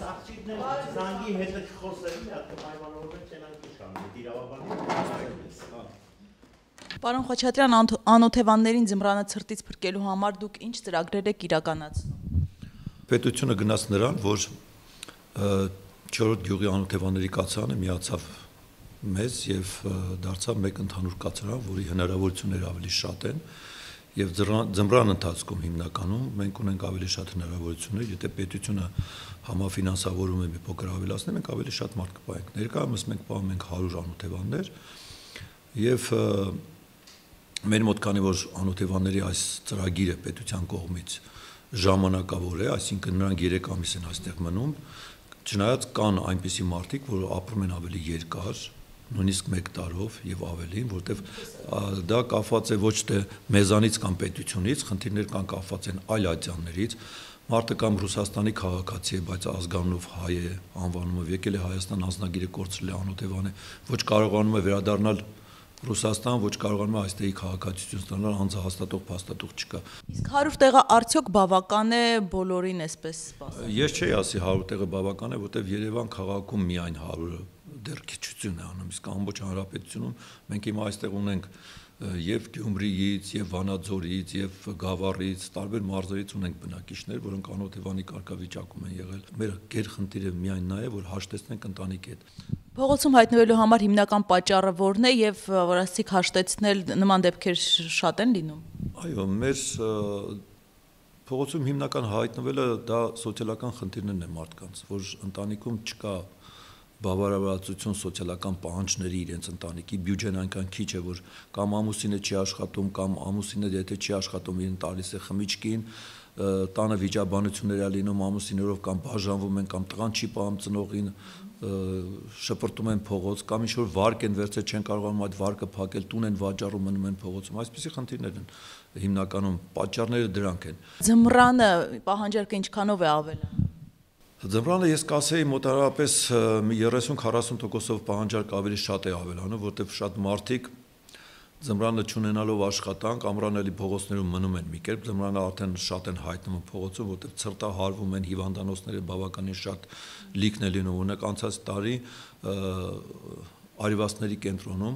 Զանգի հետը չխոսել, պայմանավորվել չենանք իշխանում, Պարոն Խաչատրյան, անօթևաններին ձմռանը ցրտից փրկելու համար դուք ինչ ծրագրեր եք իրականացնում։ Պետությունը գնաց նրան, որ 4-րդ գյուղի անօթևանների կացարանը միացավ մեզ եւ դարձավ մեկ ընդհանուր կացարան, որի հնարավորությունները ավելի շատ են եւ ձմռան ընթացքում հիմնականում մենք ունենք ավելի շատ հնարավորություններ, եթե պետությունը համաֆինանսավորում է մի փոքր ավելացնի, մենք ավելի շատ մարդ կպահենք։ Ներկայումս մենք պահում ենք 100 անօթևաններ եւ մեր մոտ քանի որ անօթևանների այս ծրագիրը պետության կողմից ժամանակավոր է, այսինքն նրանք 3 ամիս են այստեղ մնում, չնայած կան այնպիսի մարդիկ, որ ապրում են ավելի երկար, նույնիսկ 1 տարով եւ ավելին, որտեվ դա կապված է ոչ թե մեզանից կամ պետությունից, խնդիրներ կան կապված են այլ ատյաններից, մարդը կամ Ռուսաստանի քաղաքացի է, բայց ազգանունով հայ է, անվանումը եկել է Հայաստան, անձնագիրը կորցրել է անօթևան է, ոչ կարողանում է վերադառնալ Ռուսաստան, ոչ կարողանում է այստեղի քաղաքացիություն ստանալ, անձը հաստատող փաստաթուղթ չկա։ Իսկ 100 տեղը արդյոք բավական է բոլորին այսպես սպասել։ Ես չէի ասի 100 տեղը բավական է, որտեվ Երևան քաղաքում միայն 100-ը դեռ քիչություն է անում, իսկ ամբողջ հանրապետությունում մենք հիմա այստեղ ունենք եւ Գյումրիից, եւ Վանաձորից, եւ Գավառից, տարբեր մարզերից ունենք բնակիչներ, որոնք անօթևանի կարգավիճակում են եղել։ Մեր գերխնդիրը միայն նա է, որ հաշտեցնենք ընտանիքի հետ։ Փողոցում հայտնվելու համար հիմնական պատճառը որն է եւ որ ասիկ հաշտեցնել նման դեպքեր շատ են լինում։ Այո, մեր փողոցում հիմնական հայտնվելը դա սոցիալական խնդիրներն է մարդկանց, որ ընտանիքում չկա բավարարվածություն սոցիալական պահանջների իրենց ընտանիքի բյուջեն այնքան քիչ է, որ կամ ամուսինը չի աշխատում, կամ ամուսինը եթե չի աշխատում, իրեն տալիս է խմիչքին, տանը վիճաբանություններ է լինում, ամուսիններով կամ բաժանվում են, կամ տղան չի պահում ծնողին, շպրտում են փողոց, կամ ինչ-որ վարկ են վերցրել, չեն կարողանում այդ վարկը փակել, տուն են վաճառում, մնում են փողոցում, այսպիսի խնդիրներ են հիմնականում, պատճառները դրանք են։ Ձմռանը պահանջարկը ինչքանով է ավելանում։ Ձմռանը ես կասեի մոտավորապես 30-40%-ով պահանջարկ ավելի շատ է ավելանում, որտեղ շատ մարդիկ ձմռանը չունենալով աշխատանք, ամռան էլի փողոցներում մնում են մի կերպ, ձմռանը արդեն շատ են հայտնվում փողոցում, որտեղ ցրտահարվում են, հիվանդանոցները բավականին շատ լիքն է լինում, օրինակ անցած տարի Արիվաստների կենտրոնում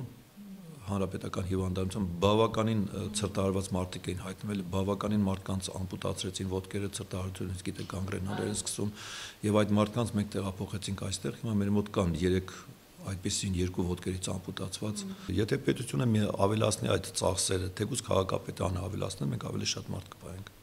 հանրապետական հիվանդանոցում բավականին ցրտահարված մարդիկ էին հայտնվել, բավականին մարդկանց ամպուտացրեցին ոտքերը, ցրտահարությունից գիտեք գանգրենաներ են սկսում եւ այդ մարդկանց մենք տեղափոխեցինք այստեղ, հիմա մեր մոտ կան 3 այդպեսին 2 ոտքերից ամպուտացված։ Եթե պետությունը ավելացնի այդ ծախսերը, թեկուզ քաղաքապետարանը ավելացնի, մենք ավելի շատ մարդ կպահենք։